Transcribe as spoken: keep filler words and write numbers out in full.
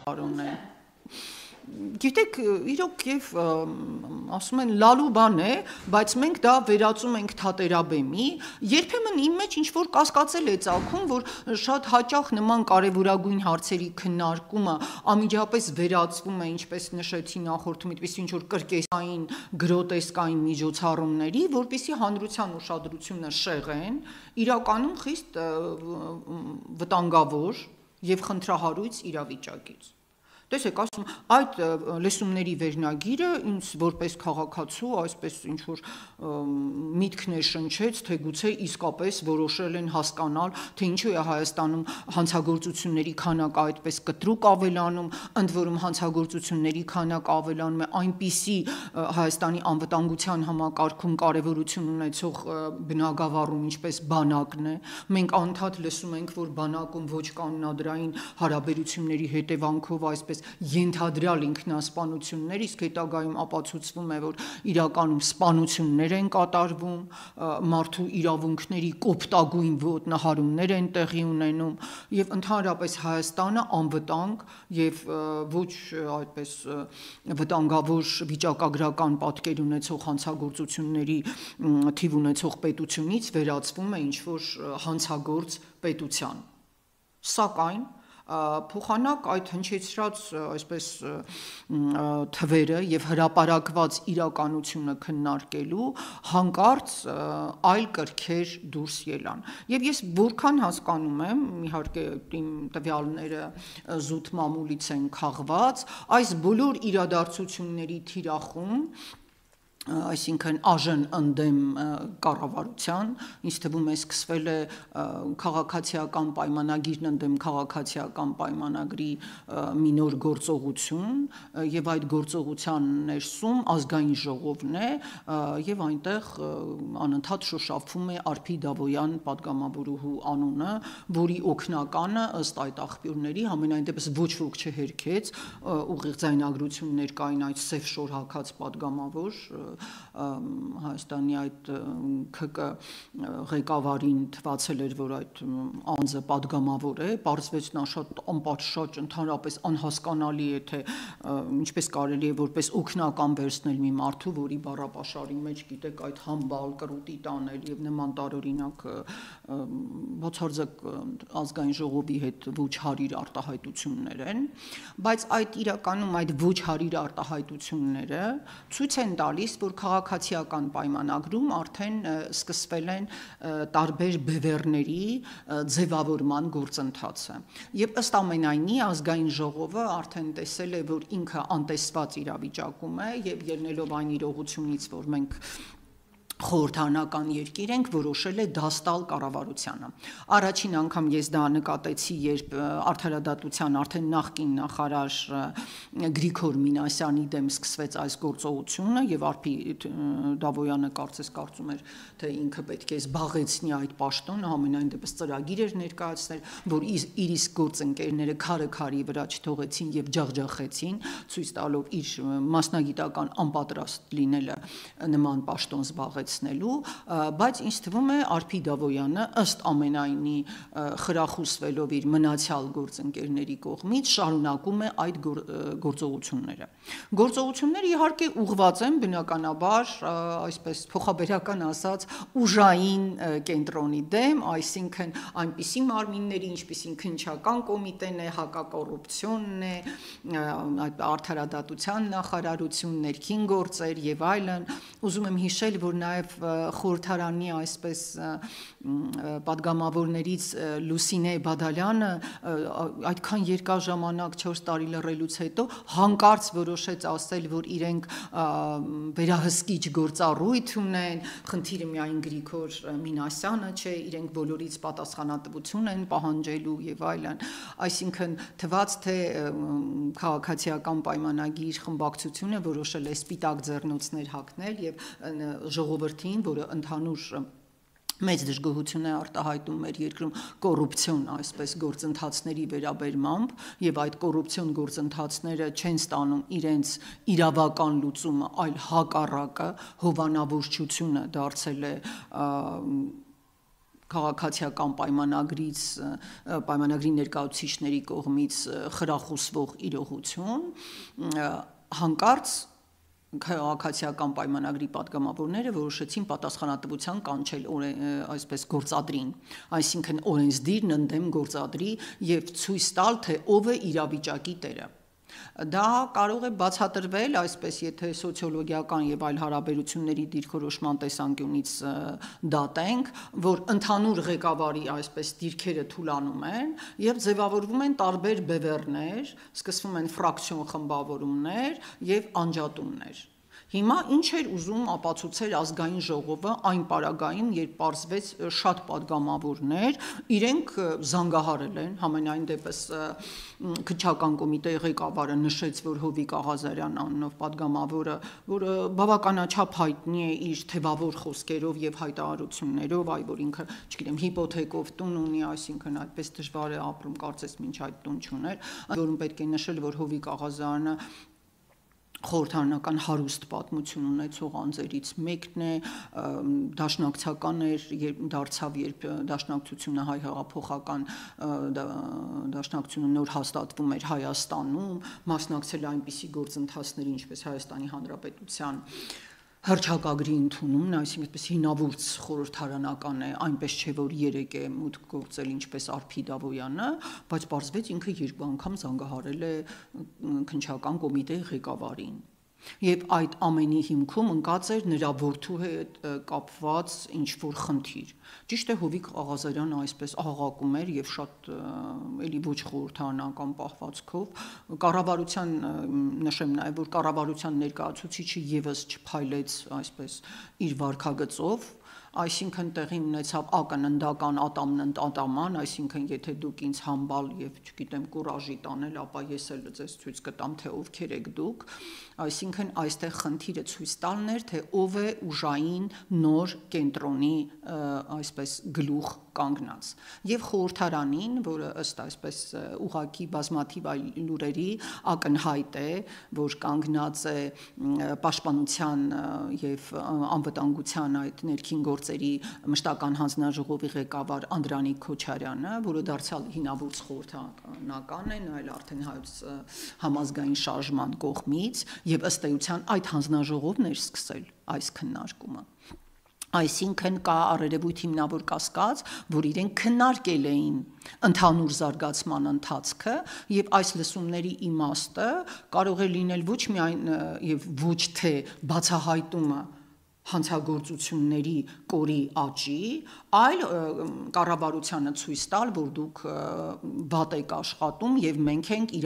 Արոնեն Գիտեք, իրոք եւ ասում են լալու բան է, բայց մենք դա վերածում ենք թատերաբեմի, երբեմն իմ մեջ ինչ որ կասկածել է ծագում, որ շատ հաճախ նման կարևորագույն հարցերի քննարկումը անմիջապես վերածվում է, ինչպես նշեցի նախորդում, այդպես ինչ որ կրկեսային գրոտեսկային միջոցառումների, որպեսզի հանրության ուշադրությունը շեղեն, իրականում խիստ վտանգավոր եւ խնդրահարույց իրավիճակից Տեսեք, ասում, այդ լեսումների վերնագիրը ինձ որպես քաղաքացու, այսպես ինչ որ միտքն է շնչեց, թե գուցե իսկապես որոշել են հասկանալ, թե ինչու է Հայաստանում հանցագործությունների քանակը այդպես կտրուկ ավելանում, ընդ որում հանցագործությունների քանակը ավելանում է այնպիսի Հայաստանի անվտանգության համակարգում կարևորություն ունեցող բնագավառում, ինչպես բանակն է։ Մենք անդադ լսում ենք, որ բանակում ոչ կանոնադրային հարաբերությունների հետևանքով այսպես ենթադրյալ ինքնասպանություններ, իսկ հետագայում ապացուցվում է, որ իրականում սպանություններ են կատարվում, մարդու իրավունքների կոպտագույն ոտնահարումներ են տեղի ունենում եւ ընդհանրապես Հայաստանը անվտանգ եւ ոչ այդպես վտանգավոր վիճակագրական պատկեր ունեցող հանցագործությունների թիվ ունեցող պետությունից վերածվում է ինչ որ հանցագործ պետության։ Սակայն փոխանակ այդ հնչեցրած այսպես թվերը եւ հրապարակված իրականությունը քննարկելու հանկարծ այլ կրքեր դուրս ելան եւ ես որքան հասկանում եմ իհարկե իմ տվյալները զուտ մամուլից են քաղված այս բոլոր իրադարձությունների թիրախում այսինքն աժն ընդդեմ կառավարության, ինձ թվում է սկսվել է քաղաքացիական պայմանագիրն ընդդեմ քաղաքացիական պայմանագրի մի նոր գործողություն եւ այդ գործողության ներսում ազգային ժողովն է եւ այնտեղ անընդհատ շոշափվում է Արփի Դավոյան падգամավորուհու անունը, որի օգնականը ըստ այդ աղբյուրների համենայն դեպս ոչ ոք չհերքեց, ուղիղ ձայնագրություններ կային այդ սև շոր հագած падգամավոր Հայաստանի այդ ՔԿ ղեկավարին թվացել էր, որ այդ անձը падգամավոր է, պարզվեց նա շատ անպատշաճ, ընդհանրապես անհասկանալի է, թե ինչպես կարելի է որպես օգնական վերցնել մի մարդու, որի բառապաշարի մեջ գիտեք այդ համբալ կրուտի տանել եւ նման տարօրինակ բացարձակ ազգային ժողովի հետ ոչ հարիր արտահայտություններ են, բայց այդ իրականում այդ ոչ հարիր արտահայտությունները ցույց են տալիս, որ քաղաքացիական պայմանագրում արդեն սկսվել են տարբեր բևեռների ձևավորման գործընթացը եւ ըստ ամենայնի ազգային ժողովը արդեն տեսել է, որ ինքը անտեսված իրավիճակում է եւ ելնելով այն իրողությունից, որ մենք խորհրդանական երկիր ենք, որոշել է դաստալ կառավարությանը։ Առաջին անգամ ես դա նկատեցի, երբ արդարադատության արդեն նախկին նախարար Գրիգոր Մինասյանի դեմ սկսվեց այս գործողությունը եւ Արփի Դավոյանը կարծես կարծում էր, թե ինքը պետք է զբաղեցնի այդ պաշտոնը, ամենայն դեպս ծրագիր էր ներկայացնել, որ իր իսկ գործընկերները քարը քարի վրա չթողեցին եւ ջախջախեցին, ցույց տալով իր մասնագիտական անպատրաստ լինելը նման պաշտոն զբաղեցնել բայց ինձ թվում է Արփի Դավոյանը ըստ ամենայնի խրախուսվելով իր մնացյալ գործընկերների կողմից շարունակում է այդ գործողությունները։ Գործողությունները իհարկե ուղղված են բնականաբար այսպես փոխաբերական ասած ուժային կենտրոնի դեմ, այսինքն այնպիսի մարմինների, ինչպիսին քննչական կոմիտեն է, հակակոռուպցիոնն է, այդ արդարադատության նախարարություն, ներքին գործեր եւ այլն, ուզում եմ հիշել, որ նաեւ խորհրդարանի այսպես падգամավորներից Լուսինե Բադալյանը այդքան երկար ժամանակ չորս տարի լռելուց հետո հանկարծ որոշեց ասել, որ իրենք վերահսկիչ գործառույթ ունեն, խնդիրը միայն Գրիգոր Մինասյանը չէ, իրենք բոլորից պատասխանատվություն են պահանջելու եւ այլն, այսինքն թվաց թե քաղաքացիական պայմանագիր խմբակցությունը որոշել է սպիտակ ձեռնոցներ հագնել եւ ժողովրդին, որը ընդհանուր մեծ դժգոհություն է արտահայտում մեր երկրում կոռուպցիոն այսպես գործընթացների վերաբերմամբ եւ այդ կոռուպցիոն գործընթացները չեն ստանում իրենց իրավական լուծումը, այլ հակառակը հովանավորչությունը դարձել է քաղաքացիական պայմանագրից պայմանագրի ներկայացուցիչների կողմից խրախուսվող իրողություն, հանկարծ քաղաքացիական պայմանագրի պատգամավորները որոշեցին պատասխանատվության կանչել այսպես գործադրին, այսինքն օրենսդիրն ընդդեմ գործադրի եւ ցույց տալ, թե ով է իրավիճակի տերը։ Դա կարող է բացատրվել, այսպես եթե սոցիոլոգիական եւ այլ հարաբերությունների դիրքորոշման տեսանկյունից դատենք, որ ընդհանուր ղեկավարի այսպես դիրքերը թուլանում են եւ ձևավորվում են տարբեր բևեռներ, սկսվում են ֆրակցիոն խմբավորումներ եւ անջատումներ։ Հիմա ինչ էր ուզում ապացուցել ազգային ժողովը այն պարագային, երբ պարզվեց շատ падգամավորներ, իրենք զանգահարել են, համենայն դեպս քննչական կոմիտեի ղեկավարը նշեց, որ Հովիկ Աղազարյան անունով падգամավորը, որը բավականաչափ հայտնի է իր թևավոր խոսքերով եւ հայտարարություններով, այ որ ինքը, չգիտեմ, հիպոթեկով տուն ունի, այսինքն այդպես դժվար է ապրում, կարծես մինչ այդ տուն չուներ, որում պետք է նշել, որ Հովիկ Աղազարյանը խորհրդարանական հարուստ պատմություն ունեցող անձերից մեկն է, դաշնակցական էր, երբ դարձավ, երբ դաշնակցությունը հայ հեղափոխական դաշնակցությունը նոր հաստատվում էր Հայաստանում, մասնակցել այնպիսի գործընթացների, ինչպես Հայաստանի Հանրապետության հռչակագրի ընդունումն, այսինքն այդպես հինավուրց խորհրդարանական է, այնպես չէ, որ երեք է մուտք գործել ինչպես Արփի Դավոյանը, բայց պարզվեց ինքը երկու անգամ զանգահարել է քննչական կոմիտեի ղեկավարին։ Եվ այդ ամենի հիմքում ընկած էր նրա որդու հետ կապված ինչ-որ խնդիր։ Ճիշտ է, Հովիկ Աղազարյանը այսպես աղաղակում էր եւ շատ էլի ոչ խորհրդարանական պահվածքով կառավարության նշեմ նաեւ, որ կառավարության ներկայացուցիչը եւս չփայլեց այսպես իր վարքագծով, այսինքն տեղի ունեցավ ակննդական ատամն ատաման, այսինքն եթե դուք ինձ համբալ եւ չգիտեմ կուրաժի տանել, ապա ես էլ ձեզ ցույց կտամ, թե ովքեր եք դուք, այսինքն այստեղ խնդիրը ցույց տալն էր, թե ով է ուժային նոր կենտրոնի այսպես գլուխ կանգնած եւ խորհրդարանին, որը ըստ այսպես ուղակի բազմաթիվ այլ լուրերի ակնհայտ է, որ կանգնած է պաշտպանության եւ անվտանգության այդ ներքին գործերի մշտական հանձնաժողովի ղեկավար Անդրանիկ Քոչարյանը, որը դարձյալ հինավուրց խորհրդարանական է, այլ արդեն հայոց համազգային շարժման կողմից եւ ըստ էության այդ հանձնաժողովն էր սկսել այս քննարկումը։ Այսինքն կա առերևույթ հիմնավոր կասկած, որ իրենք քննարկել էին ընդհանուր զարգացման ընթացքը եւ այս լսումների իմաստը կարող է լինել ոչ միայն եւ ոչ թե բացահայտումը հանցագործությունների կորի աճի, այլ կառավարությանը ցույց տալ, որ դուք վատ եք աշխատում եւ մենք ենք